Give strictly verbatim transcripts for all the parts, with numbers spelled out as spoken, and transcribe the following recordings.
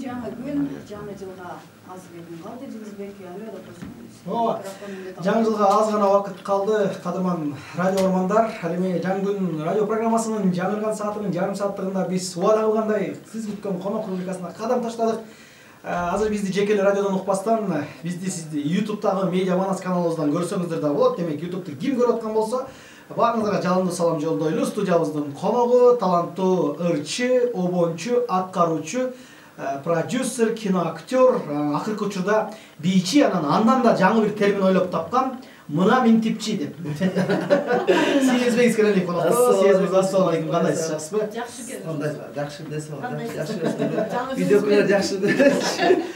жаңы күн, жаңы жылга аз бир калды. Жизбек аны да кошумуз. Ооба. Жаңы жылга аз гана убакыт калды. Кадырман радио ормандар, ал эми жаңы күн радио программасынын жаңырган саатынын жарым сааттыгында биз убада кылгандай сиз күткөн конок рубрикасына кадам таштадык. Азыр бизди жеке эле радиодон укпастан, бизди сизди YouTube'дагы Медиа Манас каналыбыздан көрсөңүздөр да болот. Демек, YouTube'ду ким көрүп аткан болсо, баарыңыздарга жалындуу салам жолдойлу. Студиябыздын коногу таланттуу ырчы, обончу, аткаруучу, продюсер, киноактер, акыркы учурда бийчи, анан андан да жаңы бир термин ойлоп тапкан, мына минтипчи деп. Сезбеңиз келели конокто. Сезбеңиз, ассалам алейкум, кандайсыз, жакшысызбы? Жакшы келип. Кандай жакшы десе болот. Жакшы. Видеолар жакшы.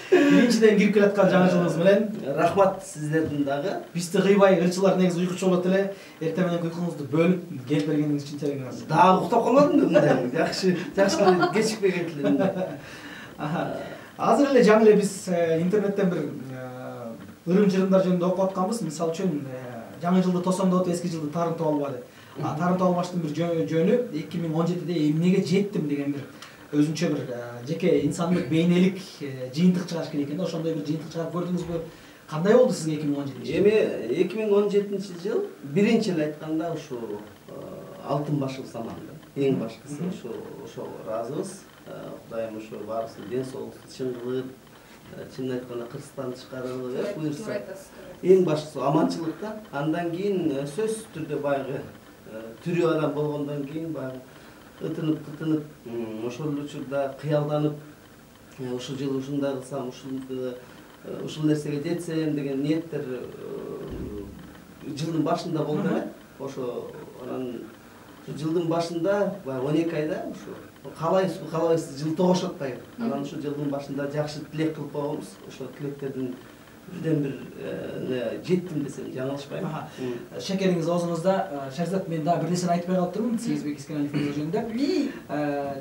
Биринчиден кирип келаткан жаңы жылыңыз менен Рахмат сиздердин дагы. Бизди кыйбай ырчылар негизи уйкучу болот эле. Эртең менен уйкуңузду бөлүп келип бергениңиз үчүн терең ыраазы. Дагы уктап калмадым да мындай. Жакшы, жакшы кечикпеген эле. Азыр эле жаңы эле биз интернеттен бир ырым-жырымдар жөнүндө окуп атканбыз. Мисалы үчүн жаңы жылды тосондоп, эски жылды тарынтып албады. А тарынтып албаштын бир жөнү эки миң он жетиде эмнеге жеттим деген бир өзүнчө бир жеке инсандык бейнелик жыйынтык чыгарыш керек экен да. Ошондой бир жыйынтык чыгарып көрдүңүзбү? Кандай болду сизге эки миң он жетинчи? Эми эки миң он жетинчи жыл биринчи эле айтканда ушу алтын башыбыз аман да. Эң башкысы ушу ошого ыраазыбыз. Кудайым ушу баарыбыздын ден соолукту чың кылып, чынын айтканда Кыргызстанды чыгарып буйрса. Эң башкысы аманчылык да. Андан кийин сөзсүз түрдө баягы тирүү адам болгондон кийин баягы ытынып, тытынып, ошол учурда кыялданып, ушул жыл ушундай кылсам, ушул ушул нерсеге жетсем деген ниеттер жылдын башында болду эле. Ошо анан жылдын башында баягы он эки айда ушу калайбызбы, калабайбызбы жыл тогуш атпайбы. Анан ушу жылдын башында жакшы тилек кылып койгонбуз. Ошо тилектердин бирден бир жеттим десем жаңылышпайм. Шекериңиз оозуңузда. Шерзат, мен дагы бир нерсени айтпай калыптырмын Сезбек Искеналиев жөнүндө.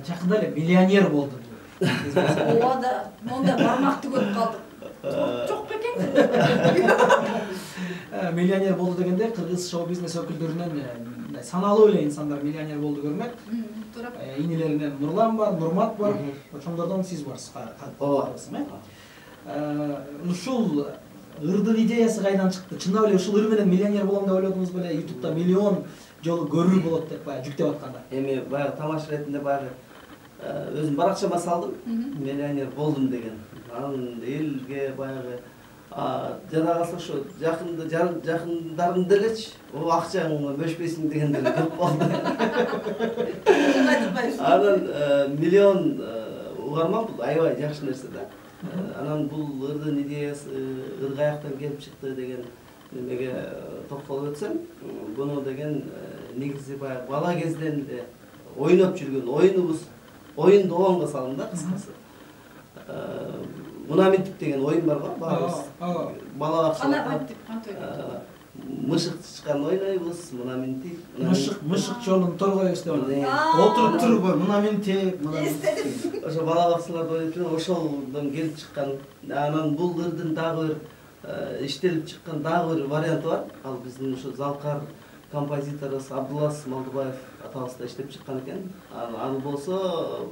Жакында эле миллионер болду. Ооба, монда бармакты көрүп калдык. Жок бекен. Миллионер болду дегенде кыргыз шоу-бизнес өкүлдөрүнөн саналуу эле инсандар миллионер болду көрүнөт. Инилеринен Нурлан бар, Нурмат бар, ошондордон сиз барсыз. Ооба. Ушул ырдын идеясы кайдан чыкты? Чындап эле ушул ыр менен миллионер болом деп ойлодуңуз беле? YouTube'да миллион жолу көрүү болот деп баягы жүктөп атканда. Эми баягы тамаша ретинде баягы өзүм баракчама салдым. Миллионер болдум деген. Анан элге баягы жана калса ошо жакында жакындарым делечи, о акчаңды бөшпөйсүң дегенде көп болду. Анан миллион угарман бул аябай жакшы нерсе да. Анан бул ырдын идеясы ыр каяктан келип чыкты деген немеге токтолуп өтсөм, буну деген негизи баягы бала кезден эле ойноп жүргөн оюнубуз, оюн доонго салдым да кыскасы. Мына минтип деген оюн бар го, баарыбыз. Балага Кана минтип кантип? Мышык чычкан ойнойбуз, мына минтип. Мышык, мышык жолун торгойбуз деп атат. Отуруп туруп, мына минтип, мына минтип. Ошо бала бакчаларда ойноп жүргөн, ошолдон келип чыккан. Анан бул ырдын дагы бир иштелип чыккан дагы бир варианты бар. Ал биздин ушу залкар композиторубуз Абдулас Малдыбаев атабыз да иштеп чыккан экен. Ал болсо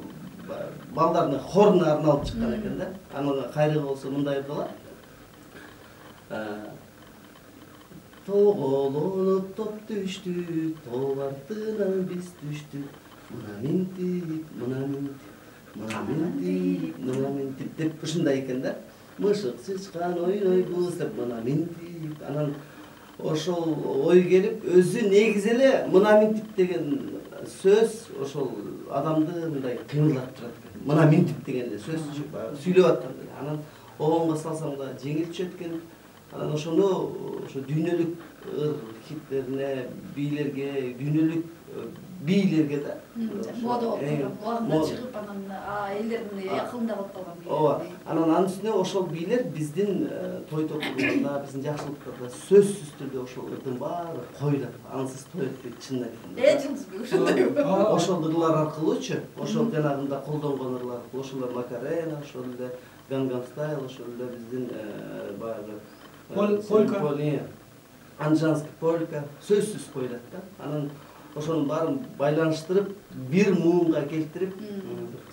балдардын хоруна арналып чыккан экен да. Анын кайрыгы болсо мындай болот. Тоголонуп топ түштүк, тоо артынан биз түштүк. Мына минтип, мына минтип, мына минтип, мына минтип деп ушундай экен да. Мышык чычкан ойнойбуз деп мына минтип. Анан ошол ой келип, өзү негизи эле мына минтип деген сөз ошол адамды мындай кыймылдатып турат экен. Мына минтип деген эле сөз сүйлөп аткандай. Анан обонго салсам да жеңил түшөт экен. Анан ошону ошо дүйнөлүк ыр хиттерине, бийлерге, дүйнөлүк бийлерге да. Мода болуп, кулагында чыгып анан элдердин якынында калып калган. Ооба. Анан анын үстүнө ошол бийлер биздин той топурларда, биздин жакшылыктарда сөзсүз түрдө ошол ырдын баары коюлат. Ансыз той өтпөйт, чынын айтканда. Э, Жылдызбек ошондой. Ошол ырлар аркылуучу, ошол жанагында колдонгон ырлар, ошолор Макарена, ошол эле Gangnam Style, ошол эле биздин баягы Полька, анжанский полька сөзсүз коюлат да. Анан ошонун баарын байланыштырып бир муунга келтирип,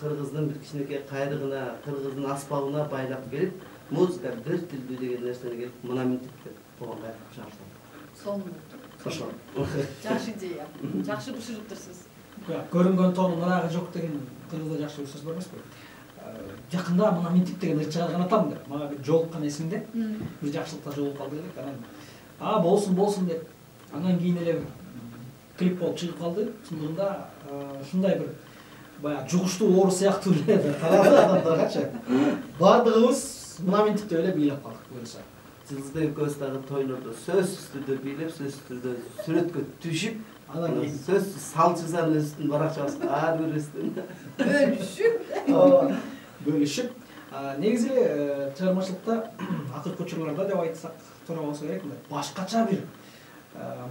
кыргыздын бир кичинекей кайрыгына, кыргыздын аспабына байлап келип, музыка бир тилдүү деген нерсени келип мына мынтип деп болгонго айтып чыгарсам. Сонун. Ошо. Жакшы идея. Жакшы бышырыптырсыз. Көрүнгөн тоонун ырагы жок деген кыргызда жакшы бир сөз бар эмеспи? Жакында мына мынтип деген ыр чыгарган атам деп. Мага бир жолуккан эсимде. Бир жакшылыкта жолугуп калды элек. Анан а болсун болсун деп. Андан кийин эле клип болуп чыгып калды. Чындыгында ушундай бир баягы жугуштуу оору сыяктуу эле тарады адамдаргачы. Бардыгыбыз мына мынтип деп эле бийлеп калдык буюрса. Жылдызбек экөөбүз дагы тойлордо сөзсүз түрдө бийлеп, сөзсүз түрдө сүрөткө түшүп, анан кийин сөзсүз салчысаныбыздын баракчабызга ар бирибиздин бөлүшүп, бөлүшүп, негизи эле чыгармачылыкта акыркы учурларда деп айтсак туура болсо керек, башкача бир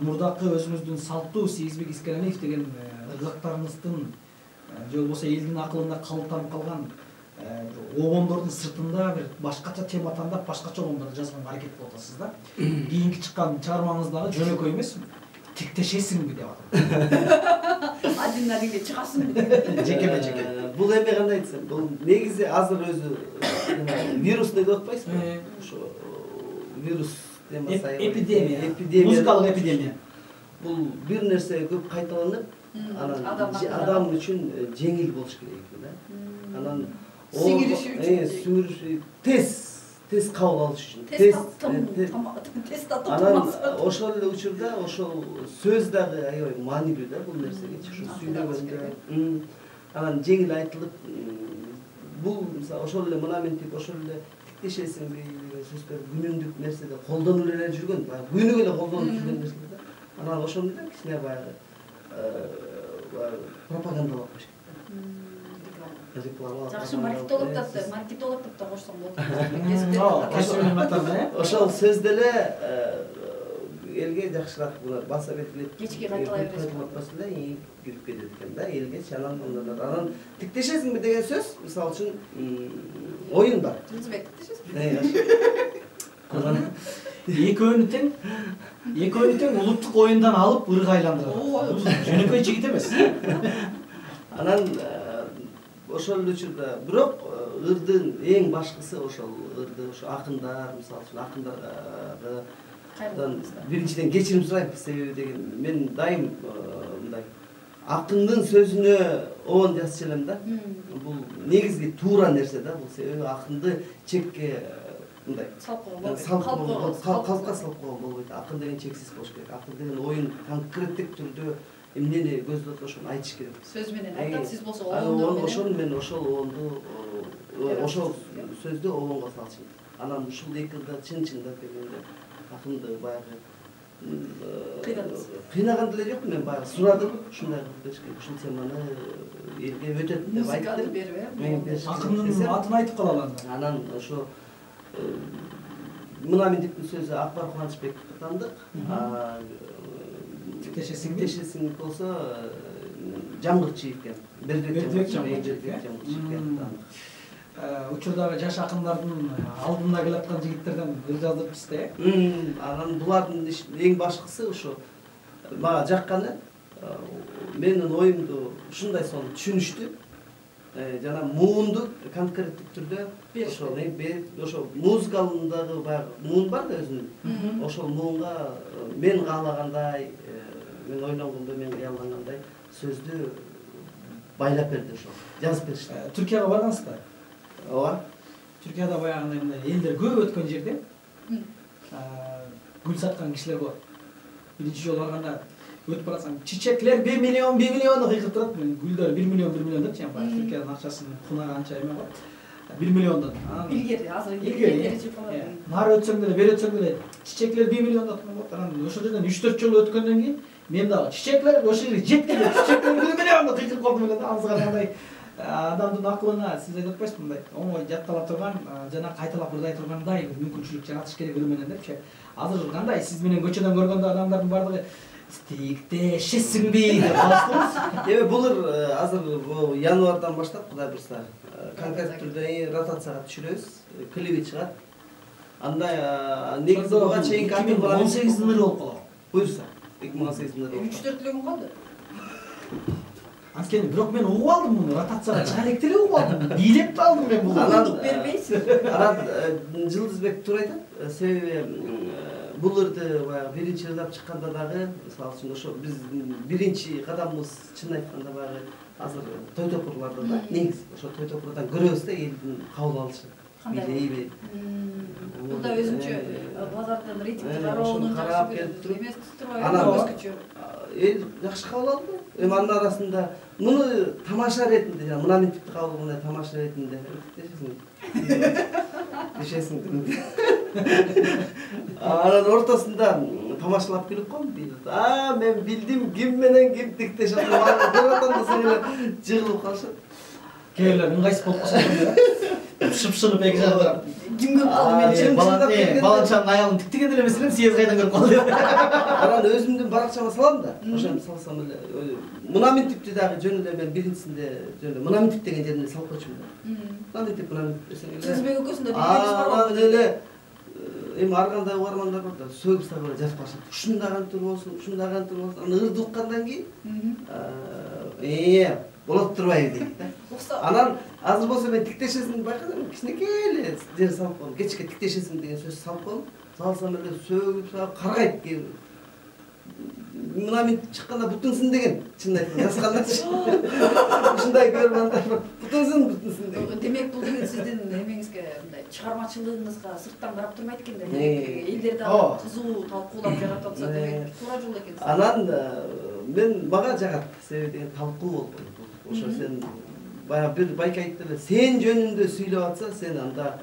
мурдакы өзүбүздүн салттуу Сегизбек Искеналиев деген ыргактарыбыздын же болбосо элдин акылында калыптанып калган обондордун сыртында бир башкача тема тандап, башкача обондорду жазганга аракет кылып атасыз да. Кийинки чыккан чыгармаңыз дагы жөнөкөй эмес, тиктешесиңби деп атат. Один адинге чыгасыңбы деп. Жекеме жеке. Бул эми кандай айтсам, бул негизи азыр өзү вирус деп атпайсызбы? Ошо вирус темасы эпидемия, музыкалык эпидемия. Бул бир нерсе көп кайталанып, анан адам үчүн жеңил болуш керек экен да. Анан сиңириш үчүн, сиңириш тез, тез кабыл алыш үчүн. Тез тез татып. Анан ошол эле учурда ошол сөз дагы аябай маанилүү да бул нерсегечи, ошо сүйлөгөндө. Анан жеңил айтылып, бул мисалы ошол эле мына мынтип, ошол эле тиктешесиңби деген сөздөр күнүмдүк нерседе колдонулуп эле жүргөн, баягы күнүгө эле колдонуп жүргөн нерсе да. Анан ошону да кичине баягы пропагандалап коюш керек. Жакшы маркетолог да, маркетолог да кошсоң болот. Кесиптин катарында, ошол сөз деле элге жакшыраак булар баса берилип, кечке кайталай бересиз. Кайталатпаса эле кирип кетет экен да, элге анан анан тиктешесиңби деген сөз, мисалы үчүн оюн бар. Жылдызбек тиктешесиңби? Экөөнү тең, экөөнү тең улуттук оюндан алып ырга айландырат. Жөнөкөй жигит эмес. Анан ошол учурда бирок ырдын эң башкысы ошол ырды ошо акындар, мисалы үчүн акындардан биринчиден кечирим сурайм, себеби деген мен дайым мындай акындын сөзүнө обон жазчу элем да. Бул негизги туура нерсе да, бул себеби акынды чекке мындай калпка салып койгон болбойт. Акын деген чексиз болуш керек. Акын деген оюн конкреттик түрдө эмнени көздөп ошону айтыш керек. Сөз менен айтат, сиз болсо обондор менен. Ошол мен ошол обонду, ошол сөздү обонго салчумун. Анан ушул эки жылда чын-чындап келгенде акынды баягы кыйнаган деле жок, мен баягы сурадым, ушундай кылып беришке, ушул теманы элге өтөт деп айттым. Музыканы берип, акындын атын айтып калалы анда. Анан ошо мына мынтиптин сөзү Акбар Кубанычбеков тандык. Тиктешесиңби? Тиктешесиң болсо Жамгырчиев экен. Бердибек Жамгырчиев экен. Учурдагы жаш акындардын алдында келаткан жигиттерден ыр жаздырыпсыз да, э? Анан булардын эң башкысы ошо мага жакканы, менин оюмду ушундай сонун түшүнүштү. Жана муунду конкреттик түрдө ошо ошо музыкалындагы баягы муун бар да өзүнүн. Ошол муунга мен каалагандай, мен ойлонгондой, мен кыялдангандай сөздү байлап берди ошо. Жазып беришти. Түркияга баргансыздар? Ооба. Түркияда баягындай мындай элдер көп өткөн жерде гүл саткан кишилер болот. Биринчи жолу барганда өтүп барасаң, чичеклер бир миллион, бир миллион кыйкырып турат. Гүлдөр бир миллион, бир миллион депчи, баягы Түркиянын акчасын кунары анча эме го. бир миллиондон. Илгери, азыр илгери чыгып калат. Нары өтсөң деле, бери өтсөң деле чичеклер бир миллион деп болот. Анан ошол жерден үч төрт жол өткөндөн кийин мен дагы чичеклер ошол жерге жеткенде чичеклер бир миллион деп кыйкырып калдым эле да. Ансыгар кандай адамдын акылына сиз айтып атпайсызбы мындай оңой жаттала турган жана кайталап ырдай тургандай бир мүмкүнчүлүк жаратыш керек ыр менен депчи. Азыр кандай сиз менен көчөдөн көргөндө адамдардын бардыгы тиктешесиңби деп калыштыңыз. Эми бул азыр январдан баштап Кудай буйрса конкрет түрдө ротацияга түшүрөбүз, клиби чыгат. Андай негизи буга чейинки эки миң он сегиздин ыры болуп калат. Буйрса эки миң он сегиздин ыры. үч төрт эле күн калды. Анткени бирок мен угуп алдым муну, ротацияга чыга элек деле угуп алдым. Бийлеп алдым мен бул. Анан бербейсиз. Анан Жылдызбек туура айтат. Себеби бул ырды баягы биринчи ырдап чыкканда дагы, мисалы үчүн ошо биз биринчи кадамыбыз чын айтканда баягы азыр той топурларда да негизи ошо той топурдан көрөбүз да элдин кабыл алышы. Билейби. Бул да өзүнчө базардын ритмди кароонун карап келип туруп эмес турбайбы, өзгөчө. Эл жакшы кабыл алды. Эми анын арасында муну тамаша ретинде, жана мына мен типти кабыл алгандай тамаша ретинде дешесиң. Дешесиң. Анан ортосунда тамашалап келип коем. А, мен билдим ким менен ким тиктешет. Бир атанда эле жыгылып калышат. Кээ ыңгайсыз болуп калса шып-шынып эки жагда. Ким көрүп калды мен чын балан баланчанын аялын тиктеген эле эмес элем, сиз кайдан көрүп калды деп. Анан өзүмдүн баракчама салам да. Ошону салсам эле мына мен типти дагы жөн эле мен биринчисинде жөн эле мына мен тип деген жерине салып койчумун да. Мына мен тип, мына мен тип десең эле. Жылдызбек экөөсүндө билгенибиз бар го. Анан эле эми ар кандай угармандар бар да, сөгүп сабыр жазып калышат. Ушундагы антыр болсун, ушундагы антыр болсун. Анан ырды уккандан кийин э болот турбайбы дейт да. Анан азыр болсо мен тиктешесиң байкадым, кичинекей эле жер салып коем. Кечке тиктешесиң деген сөз салып коем. Салсам эле сөгүп сабып каргайт кээ. Мына мен чыкканда бутунсун деген, чын айтканда жазгандачы. Ушундай көрмандар бар. Бутунсун, бутунсун деген. Демек бул деген сиздин эмеңизге мындай чыгармачылыгыңызга сырттан карап турбайт экен да. Элдер дагы кызуу талкуулап жаратып атса демек туура жол экен. Анан мен мага жагат, себеби деген талкуу болду. Ошо сен баягы бир байке айтты эле, сен жөнүндө сүйлөп атса, сен анда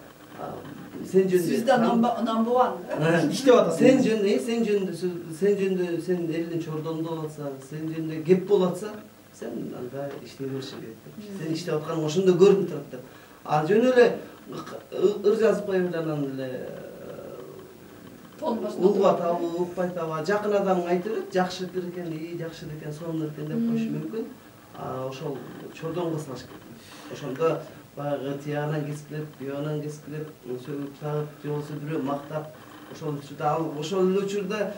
сен жөнүндө сиз да number one иштеп атасың. Сен жөнүндө, сен жөнүндө, сен жөнүндө, сен элдин чордонунда болуп атса, сен жөнүндө кеп болуп атса, сен анда иштей беришиң керек. Сен иштеп атканың ошондо көрүнүп турат деп. А жөн эле ыр жазып коюп эле анан эле угуп атабы, укпай атабы, жакын адамың айтып эле, жакшы ыр экен, и жакшы экен, сонун экен деп коюшу мүмкүн. А ошол чордонго салыш керек. Ошондо баягы тиягынан кескилеп, буягынан кескилеп, сөгүп сагып, же болбосо бирөө мактап, ошол учурда ал ошол эле учурда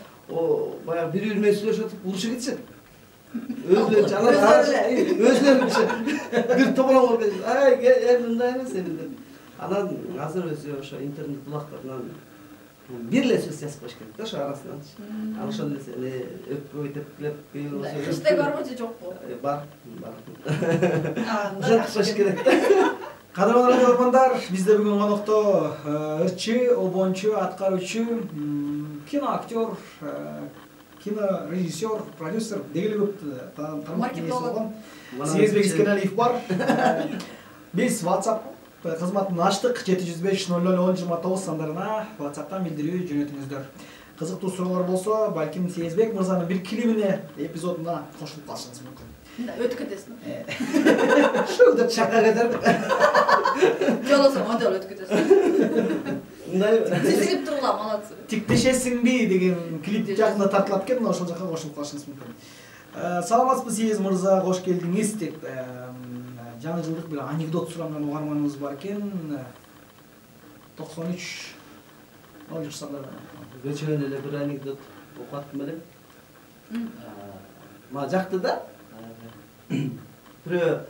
баягы бири-бири менен сүйлөшүп атып урушуп кетишет. Өзүлөрү жанагы өзүлөрү бир тополоң болуп кетишет. Ай, эми мындай эмес эми деп. Анан азыр өзү ошо интернет булактарынан бир эле сөз жазып коюш керек да ошо арасынан. Ал ошондо эле өпкө тепкилеп, бир болсо. Хэштег барбы же жокпу? Бар, бар. Анда коюш керек да. Кадырлуу көрөрмандар, бизде бүгүн конокто ырчы, обончу, аткаруучу, киноактер, кинорежиссер, продюсер деги эле көп тармактуу болгон Сезбек Искеналиев бар. Биз WhatsApp кызматын ачтык. жети жүз беш ноль ноль он жыйырма тогуз сандарына WhatsApp'тан билдирүү жөнөтүңүздөр. Кызыктуу суроолор болсо, балким Сезбек мырзанын бир клибине, эпизодуна кошулуп калышыңыз мүмкүн. Өтүп кетесиң. Ушул деп шака кетирип. Жолосо модель өтүп кетесиң. Мындай Сезилип тургула, молодцы. Тиктешесиңби деген клип жакында тартылат экен, ошол жака кошулуп калышыңыз мүмкүн. Саламатсызбы Сез мырза, кош келдиңиз деп жаңы жылдык бир анекдот суранган угарманыбыз бар экен. токсон үч ноль үч сандарда. Көчөгөн эле бир анекдот окуп аттым элем. Мага жакты да. Бирөө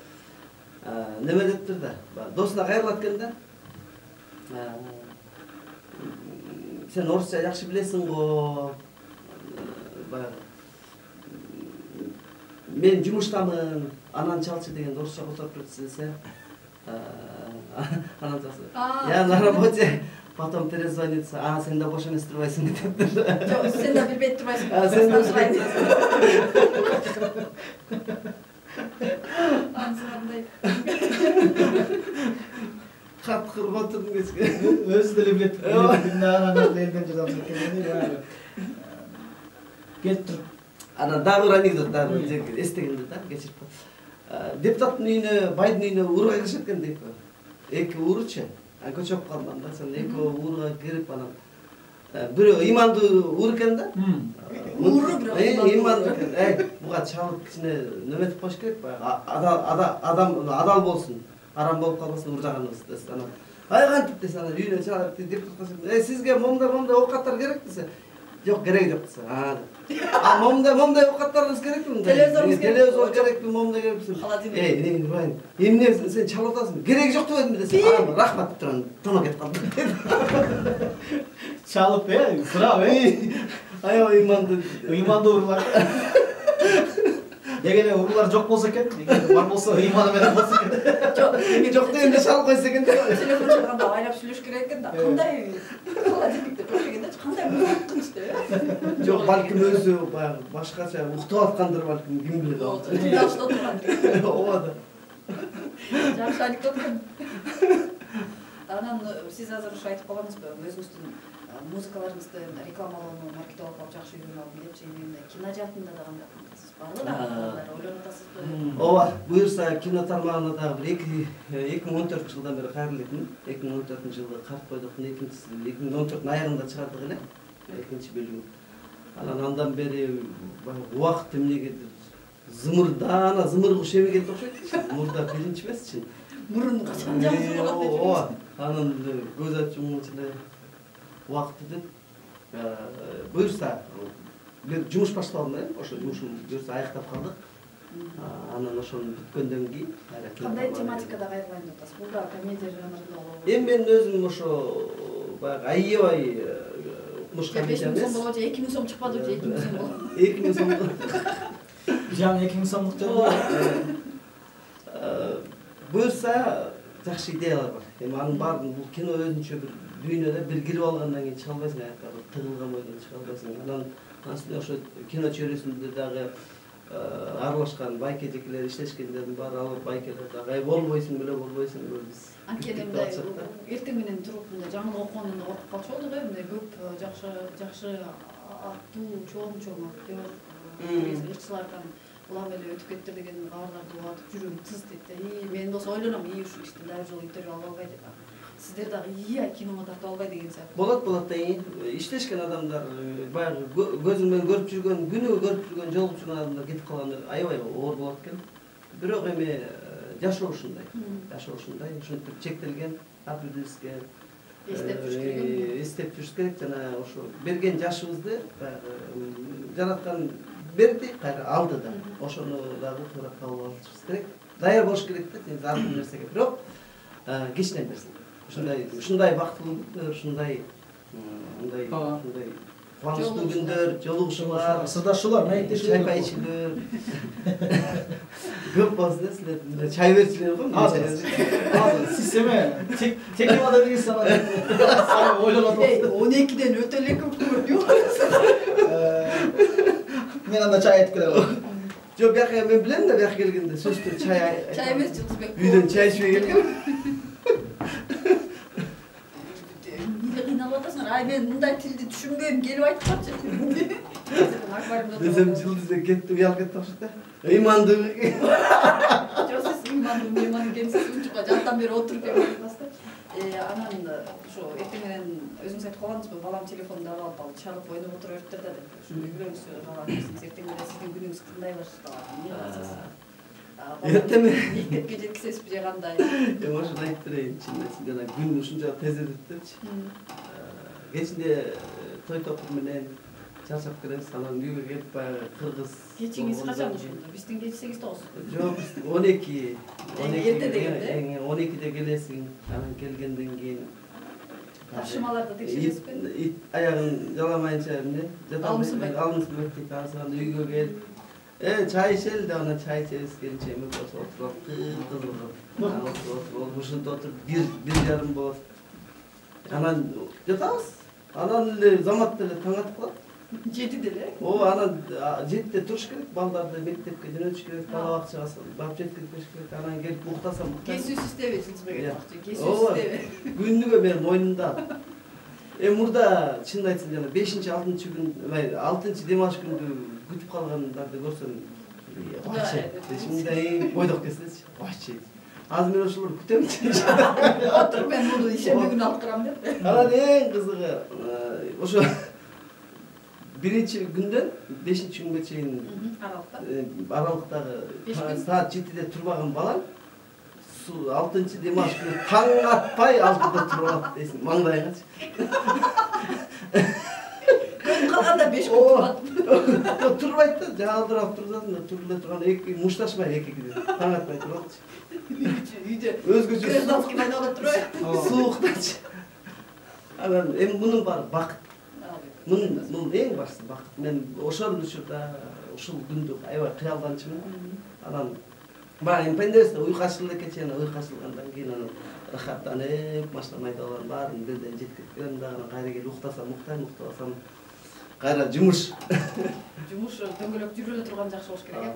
неме дептир да, досуна кайрылат экен да. Сен орусча жакшы билесиң го. Баягы мен жумуштамын, анан чалчы деген орусча которуп кетсе десе. Анан чалчы. Я на работе, потом перезвонится. А, сен да бош эмес турбайсың дептир. Жок, сен да билбей турбайсың. А, сен да билбей Ансырандай. Кат кырып отурдум кечке. Өзү деле билет. Анан элден жазам экен. Келип туруп. Анан дагы бир анекдот, дагы бир эстегенде да, кечирип коем. Депутаттын үйүнө, байдын үйүнө урга киришет экен дейт. Эки ууручу. Ан көчөп калган да, сен эки уурга кирип анан бирөө ыймандуу уур экен да. Ууру бирок ыймандуу экен. Эй, буга чалып кичине неметип коюш керек баягы. Адам адал болсун. Арам болуп калбасын уржаганыбыз десе. Анан ай кантип десе, анан үйүнө чалып депутатка "Эй, сизге момда момда оокаттар керек" десе. Жок, кереги жок десе. А, А момундай момундай оокаттарыбыз керекпи мындай? Телевизорубуз керек. Телевизор керекпи, момундай керекпи? Холодильник. Эй, эмне Ибрайым? Эмне сен чалып атасың? Кереги жок деп атам десе, а рахмат деп турам, тонок кетип калдым. Чалып, э, сурап, э. Аябай ыймандуу. Ыймандуу уруулар. Эгер уруулар жок болсо экен, эгер бар болсо ыйманы менен болсо экен. Жок, Жок дегенде чалып койсо экен. телефон чалганда айлап сүйлөш керек экен да. Кандай холодильникте туруп дегенде кандай мыкынч деп. Жок, балким өзү баягы башкача уктап аткандыр балким, ким билет. Жашта турган. Ооба да. Жакшы анекдот экен. Анан сиз азыр ушу айтып калгансызбы, өзүңүздүн музыкаларыңызды рекламалоону, маркетологдоп жакшы үйрөнүп алдым депчи, эми кино жаатында да кандай кыласыз? Барды да ойлонуп атасызбы? Ооба, буюрса кино тармагына дагы бир эки миң он төртүнчү жылдан бери кайрылып элем. эки миң он төртүнчү жылы Карт бойдоктун экинчиси, эки миң он төрттүн аягында чыгардык эле. Экинчи бөлүгүн. Анан андан бери убакыт эмнегедир зымырдана зымыр куш эмегенде окшойт. Мурда биринчи эмесчи. Мурун качан жабылып калат деп. Ооба. Анан көз ачып умчу эле убакыт өтөт. Буюрса бир жумуш башталдым да, ошо жумушум буюрса аяктап калдык. Анан ошону бүткөндөн кийин кандай тематикада кайрылайын деп атасыз? Бул да комедия жанрында болобу? Эми мен өзүм ошо баягы аябай укмуш комедия эмес. беш миң сом болобу же эки миң сом чыкпады же эки миң сом болобу? эки миң сом. Жаңы эки миң сомдук жолу. Буюрса жакшы идеялар бар. Эми анын баарын бул кино өзүнчө бир дүйнөдө бир кирип алгандан кийин чыга албайсың, аякка тыгылган бойдон чыга албайсың. Анан астында ошо кино чөйрөсүндө дагы аралашкан байке жекелер иштешкендердин баары алып байкелер дагы ай болбойсуң беле болбойсуң беле биз. Анткени мындай эртең менен туруп мындай жаңылык окугандан коркуп калчу болдук э, мындай көп жакшы жакшы аттуу чоң чоң актер ырчылардан улам эле өтүп кетти деген кабарларды угатып жүрөгүм тыз дейт да. И мен болсо ойлоном, и ушу кишти дагы жолу интервью ала албай деп. Сиздер дагы ия киномо тартып албай деген сыяктуу. Болот болот да, иштешкен адамдар баягы көзүң менен көрүп жүргөн, күнүгө көрүп жүргөн, жолугуп жүргөн адамдар кетип калганда аябай оор болот экен. Бирок эми жашоо ушундай. Жашоо ушундай, ушинтип чектелген, ар бирибизге эстеп жүрүш керек. Эстеп жүрүш керек жана ошо берген жашыбызды баягы жараткан берди, кайра алды да. Ошону дагы туура кабыл алышыбыз керек. Даяр болуш керек да, ар бир нерсеге. Бирок кечинен берсин. Ушундай, ушундай бактылуу күндөр, ушундай, мындай, ушундай кубанычтуу күндөр, жолугушуулар, сырдашуулар, маектешүүлөр, чай ичилер. Көп болсун да силер, чай берчилер го. Азыр сиз эме техникада деген санат ойлонуп атасыз. он экиден өтө эле көп көрүнүп. Мен анда чай айтып келем. Жок, бияка мен билем да, бияка келгенде сөздөр чай. Чай эмес, Жылдызбек. Үйдөн чай ичпей келген. Эмне кыйналып атасыңар? Ай, мен мындай тилди түшүнбөйм, келип айтып калчы. Десем Жылдызбек кетти, уялып кетти окшойт да. Ыймандуу. Жок, сиз ыймандуу, ыймандуу экенсиз, унчукка жанттан бери отуруп келип атасыз да. Анан ошо эртең менен өзүңүз айтып калгансызбы, балам телефонду алып алып чалып ойноп отура бериптир да деп. Ошондой үйрөнүңүз калган. Эртең менен сиздин күнүңүз кандай башталат? Эмне кыласыз? Эртең менен мектепке жеткизесизби же кандай? Эми ошону айтып берейин, чын эсимде күн ушунча тез өтүп депчи. Кечинде той топур менен чарчап келебиз, анан үйгө келип баягы кыргыз. Кечиңиз качан ошондо? Биздин кеч сегиз тогуз. Жок, он эки. Эрте дегенде. он экиде келесиң, анан келгенден кийин тапшырмаларды текшересизби? Аягын жаламайынча эмне? Алымсынбайт. Алымсынбайт дейт, анан үйгө келип, э, чай ичели деп, анан чай ичебиз, келинче эми болсо отуруп, кызыгып, анан отуруп, ушинтип отуруп, бир, бир жарым болот. Анан жатабыз. Анан эле замат деле таң атып калат. жетиде эле? Ооба, анан жетиде туруш керек, балдарды мектепке жөнөтүш керек, бала бакчага барып жеткирип бериш керек. Анан келип уктасам, Кесүүсүз иштеби, Жылдызбек айтмакчы, кесүүсүз ооба, иштеби. күнүгө менин мойнумда. Эми мурда чынын айтсам жана бешинчи, алтынчы күн, алтынчы дем алыш күндү күтүп калгандарды көрсөм, бачы, мындай бойдок келсечи, бачы. Азыр мен ошолорду күтөмчү. Отуруп мен муну ишемби күнү алып турам деп. Анан эң кызыгы ошо биринчи күндөн бешинчи күнгө чейин аралыкта аралыктагы саат жетиде турбаган балам алтынчы дем алыш күнү таң атпай алтыда туруп алат дейсиң, маңдайгачы. Көз калганда беш күн турат. Турбайт да, жаалдырап турсаң да туруп эле турган эки мушташмай эки таң атпай туралчы. Үйдө Өзгөчө гражданский война болуп турбайбы? Сууктачы. Анан эми мунун баары бакыт. Мунун мунун эң башкысы бакыт. Мен ошол учурда ушул күндү аябай кыялданчумун. Анан баягы пендесте уйку ачылды экен, анан уйку ачылгандан кийин анан рахаттанып, машина айдалган баарын белден жеткирем дагы анан кайра келип уктасам, уктайм, уктабасам кайра жумуш. Жумуш дөңгөлөк жүрүп эле турган жакшы болуш керек э.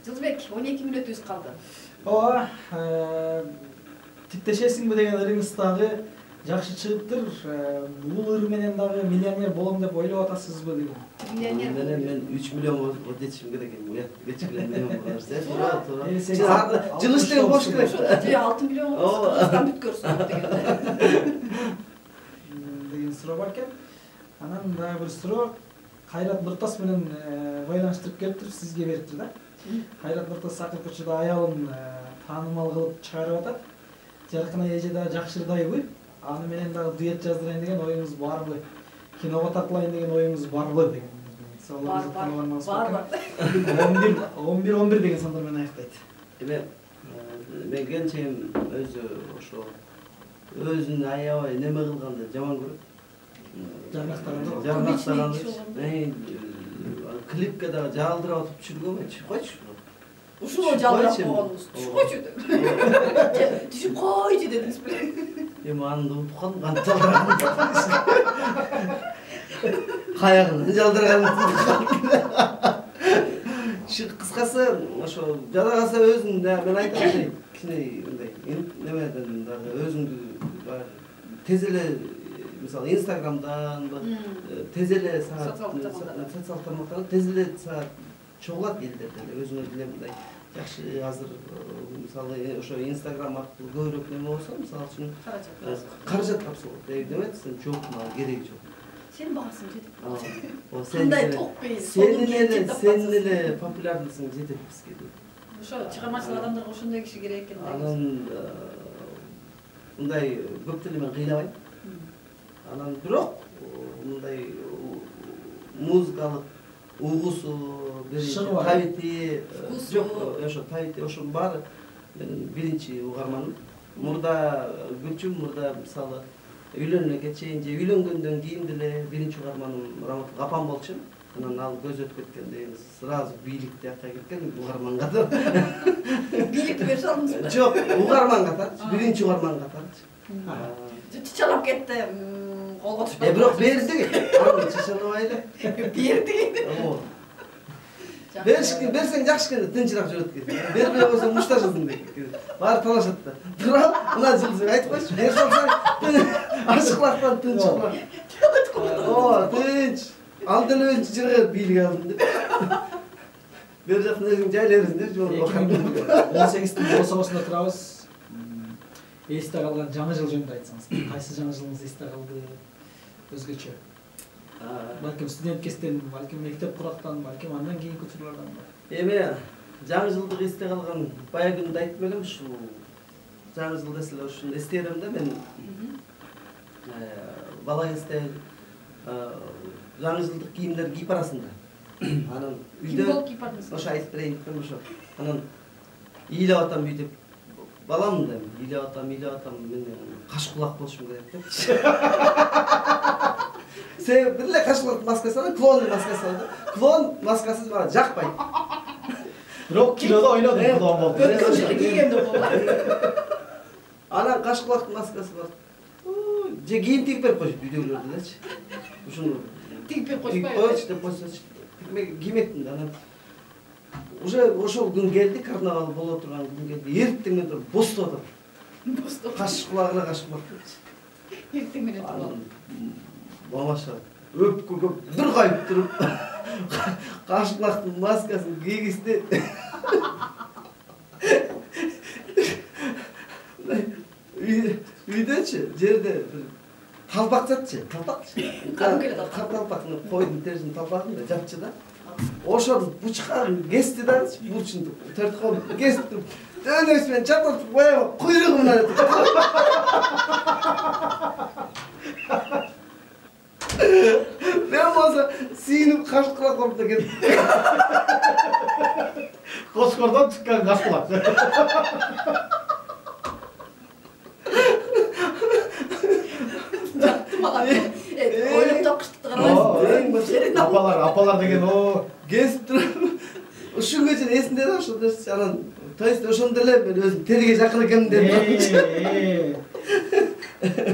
Жылдыбек, он эки мүнөтүбүз калды. Ооба, типтешесиңби деген ырыңыз дагы жакшы чыгыптыр. Бул ыр менен дагы миллионер болом деп ойлоп атасызбы деген? Миллионер менен мен үч миллион болуп жетишим керек экен. Уят кечигиле миллион болор. Туура, туура. Жыл иштеген болуш керек. Же алты миллион Кыргызстан бүткөрсүн деген. Деген суроо бар экен. Анан дагы бир суроо Кайрат Нуртас менен байланыштырып келиптир, сизге бериптир да. Кайрат Нуртас акыркы учурда аялын таанымал кылып чыгарып атат. Жаркын эже дагы жакшырдайбы? Аны менен дагы дуэт жаздырайын деген оюңуз барбы? Киного тартылайын деген оюңуз барбы деген. Бар, бар, бар. он бир он бир деген сандар менен аяктайт. Эми мен келчегим өзү ошо өзүн аябай неме кылганды жаман көрөт. Жарнактаганда, жарнактаганда. Клипке дагы жаалдырып атып түшүргөнбү? Түшүп койчу. Ушул жаалдырап койгонубуз. Түшүп койчу деп. Түшүп койчу дедиңиз беле? Эми аны да утуп калдым, кантип жалдырганын. Каягын жалдырганын. Кыскасы ошо жада калса өзүң да мен айтам кичине мындай немеден дагы өзүңдү тез эле мисалы Инстаграмдан тез эле социалдык тармактардан тез эле чогулат элдерде эле өзүңөр деле мындай жакшы азыр мисалы ошо Инстаграм аркылуу көбүрөөк неме болсо мисалы үчүн каражат тапсалат демек сен жок мага кереги жок. Сен багасың жетип. О, кандай токпей. Сен эле сен эле популярдысың жетет бизге деп. Ошо чыгармачыл адамдарга ошондой киши керек экен. Анан мындай көп деле мен кыйлабайм. Анан бирок мындай музыкалык угусу, табити, жок, ошо табити ошонун баары менин биринчи угарманым. Мурда Гүлчүм, мурда мисалы үйлөнгөнгө чейин же үйлөнгөндөн кийин деле биринчи угарманым Раматов апам болчу. Анан ал көз өтүп кеткенден сразу бийлик жакка кеткен угарман катар. Бийликти берип салдыңызбы? Жок, угарман катар, биринчи угарман катар. Чычалап кетти. Колго түшпөй. Э, бирок берди. Аны чычалабай эле. Берди. Оо. Беришки, берсең жакшы экен, тынчыраак жүрөт экен. Бербей койсоң мушташасың дейт. Баары талашат да. Тура, мына жылдыз айтып койчу, бер салсаң ашыклактан тынч кылат. Оо, тынч. Ал деле өзү жыргап бийлик алдым деп. Бер жактан өзүң жайлай берсиң деп жол. он сегиздин бособосунда турабыз. Эсте калган жаңы жыл жөнүндө айтсаңыз. Кайсы жаңы жылыңыз эсте калды? Өзгөчө. Балким студент кезден, балким мектеп курактан, балким андан кийинки учурлардан бар. Эми жаңы жылдык эсте калган баягы күндө айтып элем ушул жаңы жыл десе ушуну эстейм да мен. Бала кезде жаңы жылдык кийимдер кийип барасың да. Анан үйдө ошо айтып берейин десем ошо. Анан ыйлап атам үйдө. Балам да ыйлап атам, ыйлап атам, мен каш кулак болушум керек деп. Сен биреле каш кулак маскасы алып, клоун маскасы алып. Клоун маскасы мага жакпайт. Бирок кинодо ойнодум, клоун болуп. Өткөн жылы кийгенде болду. Анан каш кулактын маскасы бар. Же кийим тигип берип койчу үйдөгүлөр делечи. Ушуну тигип берип койчу. Койчу деп койсочу. Киймектин да анан уже ошол күн келди, карнавал боло турган күн келди. Эртең менен туруп бостоп атат. Бостоп. Каш кулагына каш кулак. Эртең менен туруп. Мамаша өпкөгө бир кайып туруп каш кулактын маскасын кийгизди. Үйдөчү, жерде талпак жатчы, талпакчы. Кадимкеле талпак. Талпакны койдун терисин талпагын да жапчы да. Ошону бучкагын кести да, бурчун төрт кол кести. Дөөнөсү чапып баягы куйругуна. Мен болсо сүйүнүп кашкыла коруп да кетип. Кошкордон чыккан кашкылак. Ойлоп тапкычтыкты карабайсызбы? Апалар, апалар деген о. Кесип туруп ушунга чейин эсимде да ошо анан то есть ошондо эле мен өзүм териге жакын экенмин деп.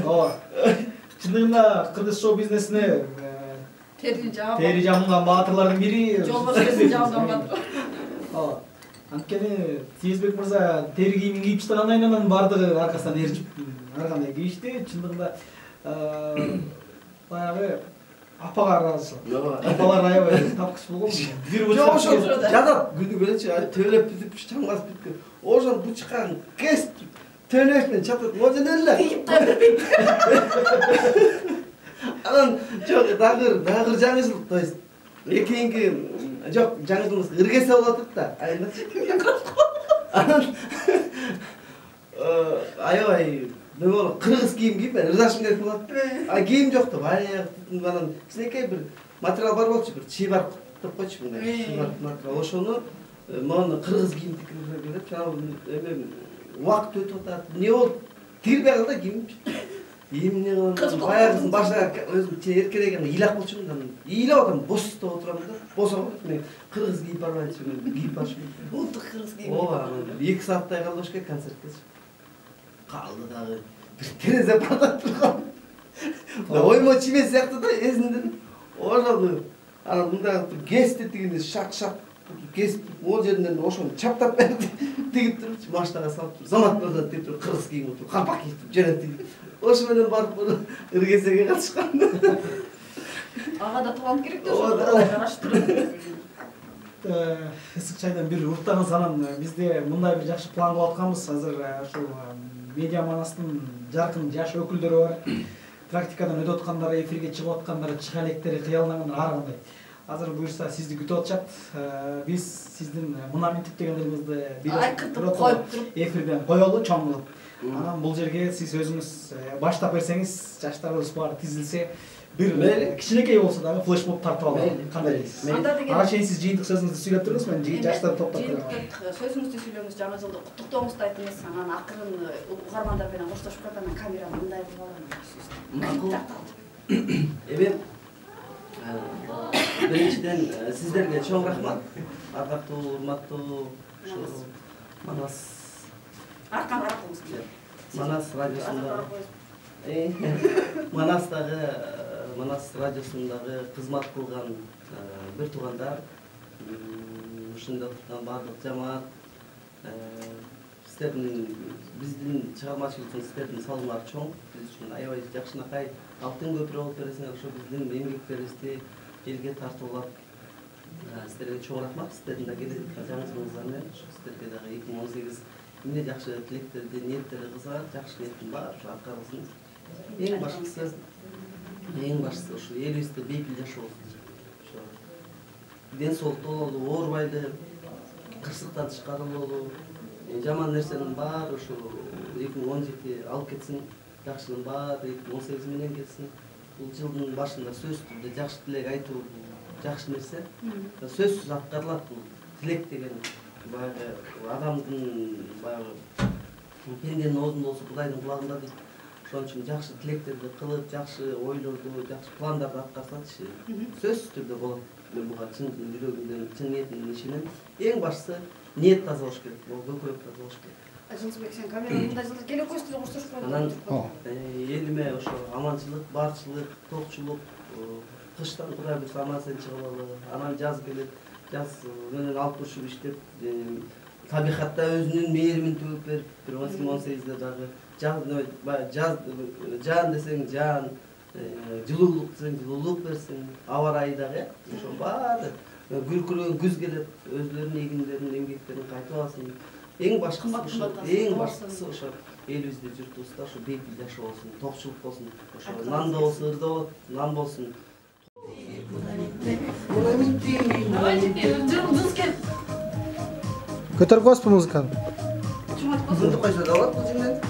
Ооба. Чындыгында кыргыз шоу бизнесине Терини жаап. тери жамылган баатырлардын бири. Жолбарсын жамылган баатыр. Ооба. Анткени Сезбек мырза тери кийимин кийип чыккандан кийин анан бардыгы аркасынан ээрчип ар кандай кийишти. Чындыгында баягы апага ыраазы. Апалар аябай тапкыч болгон. Бир Жок, ошо жатат күнү келечи, төлөп бүтүп чаңгасы бүткөн. Ошол бучкан кес төлөшүнөн чатат. Можен эле. Анан жок, дагыр, дагыр жаңычылык, то есть экинки жок, жаңычылык ыргесе болот да. Анан аябай мен боло кыргыз кийим кийип мен ырдашым керек болот. А кийим жок да, баягы анан кичинекей бир материал бар болчу, бир чийбар деп койчу мындай. Чийбар материал. Ошону мен кыргыз кийим тикип келип, жанагы эме убакыт өтүп атат. Эмне болуп тигилбей калды да кийим. Эмне кылам? Баягысын башка өзүм эркелеген ыйлак болчумун да. Ыйлап атам, босто отурам да. Босо мен кыргыз кийип барбайчы, кийип барчумун. Улуттук кыргыз кийим. Ооба, эки сааттай калды ошке концертке. Калды дагы бир терезе бардап турган. Оймо чиме сыяктуу да эсинден. Ошол анан мындай кести тигинде шак-шак кесип, ол жеринен ошону чаптап берди. Тигип туруп, машинага салып, замат мырза деп туруп, кыргыз кийим отуруп, калпак кийип жөнөттү. Ошо менен барып ыргесеге катышкан. Ага да талант керек да ошо караштырып. Ысык чайдан бир уруктаңыз, анан бизде мындай бир жакшы план кылып атканбыз. Азыр ошол медиа манастын жаркын жаш өкүлдөрү бар. Практикадан өтүп аткандар, эфирге чыгып аткандар, чыга электери кыялдангандар ар кандай. Азыр буюрса сизди күтүп атышат. Биз сиздин мына минтип дегендерибизди айкыртып коюп туруп эфирден коелу чоң кылып. Анан бул жерге сиз өзүңүз баштап берсеңиз, жаштарыбыз баары тизилсе, бир кичинекей болсо дагы флешмоб тартып алып, кандай дейсиз? Ага чейин сиз жыйынтык сөзүңүздү сүйлөп турдуңуз, мен жаштарды топтоп турам. Жыйынтык сөзүңүздү сүйлөңүз, жаңы жылды куттуктооңузду айтыңыз, анан акырын угармандар менен коштошуп калганда камераны мындай кылып алам. Эми биринчиден сиздерге чоң рахмат. Ардактуу, урматтуу Манас Аркан аракыңыз. Манас радиосунда Манастагы Манас радиосундагы кызмат кылган бир туугандар, ушунда турган баардык жамаат, сиздердин биздин чыгармачылыктын сиздердин салымдары чоң. Биз үчүн аябай жакшынакай алтын көпүрө болуп бересиңер. Ошо биздин эмгектерибизди элге тартуулап сиздерге чоң рахмат. Сиздердин да келе жаңы жылыңыздар менен сиздерге дагы эки миң он сегиз эмне жакшы тилектерди, ниеттери кылса, жакшы ниеттин баары аткарылсын. Эң башкысы, эң башкысы ушу элибизде бейпил жашоо болсун. Ошо ден соолуктуу бололу, оорубайлы, кырсыктан тышкарылуулу, жаман нерсенин баары ушу эки миң он жети алып кетсин, жакшынын баары эки миң он сегиз менен кетсин. Бул жылдын башында сөзсүз түрдө жакшы тилек айтуу жакшы нерсе. Сөзсүз аткарылат бул тилек деген. Баягы адамдын баягы пенденин оозунда болсо Кудайдын кулагында дейт. Ошон үчүн жакшы тилектерди кылып, жакшы ойлорду, жакшы пландарды аткарсачы сөзсүз түрдө болот. Мен буга чын жүрөгүмдөн, чын ниетимден ишенем. Эң башкысы ниет таза болуш керек, көкүрөк таза болуш керек. Жылсыбек, сен камераны мындай жылда келе койсуң деп коштошуп коюп. Анан элиме ошо аманчылык, барчылык, токчулук, кыштан Кудай буйрса аман сен чыгып алалы. Анан жаз келет, жаз менен алып турушуп иштеп, табигатта өзүнүн мээримин төгүп берип, бир эки миң он сегизде дагы жаз жаан десең жаан, жылуулук десең жылуулук берсин, аба ырайы дагы, ошо баары күркүрөгөн күз келет, өзүлөрүнүн эгиндерин, эмгектерин кайтып алсын. Эң башкысы ошо, эң башкысы ошо элибизде, журтубузда ошо бейпил жашоо болсун, токчулук болсун. Ошо нан да болсо, ырда болот, нан болсун. Көтөрүп коесузбу музыканы? Узунду койсо да болот бул жерден.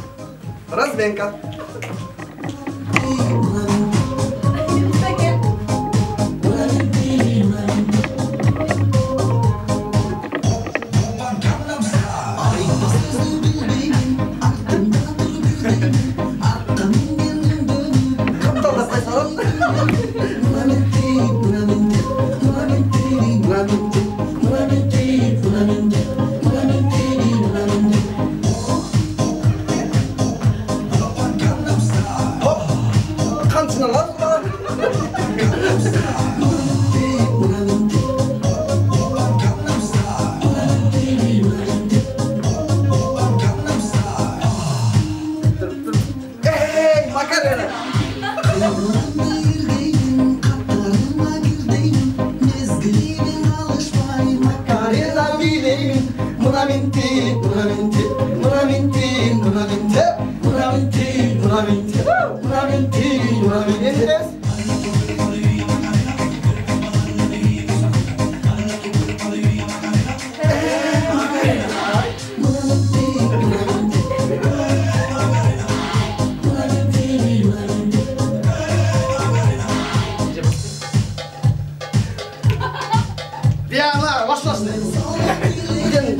Разменка. мына мен тип, мына мен тип, мына мен тип, мына мен тип, мына мен тип, мына мен тип, мына мен тип, мына мен тип.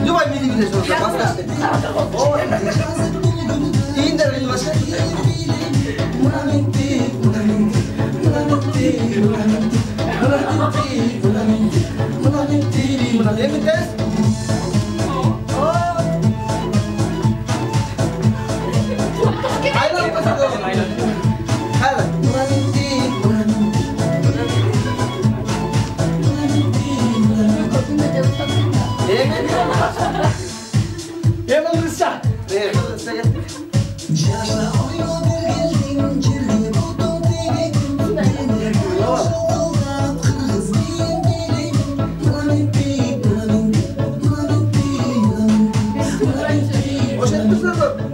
Любой милли Oşet kızlar